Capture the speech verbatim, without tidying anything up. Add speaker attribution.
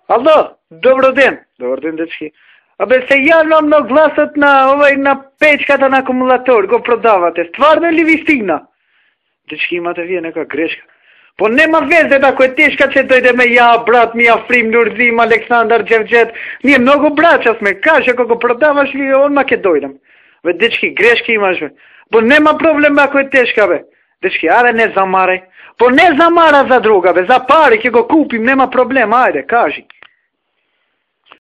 Speaker 1: Ало, добро ден. Добар ден, дечки. Абе се јавнам на гласот на овај на печката на акумулатор, го продавате. Стварно ли ви стигна? Дечки, имате вие нека грешка. По нема везе, ако е тешка, че дојдеме ја, брат ми, Африм, Нурзим, Александар, Джевджет. Ние многу браќа сме. Каже, ако го продаваш ли, онма ке дојдем. Бе, дечки, грешки имаш, бе. По нема проблем, ако е тешка, бе. Дечки, аре не замарај. По не замара за друга, бе. За пари ќе го купим, нема проблем, ајде, кажи.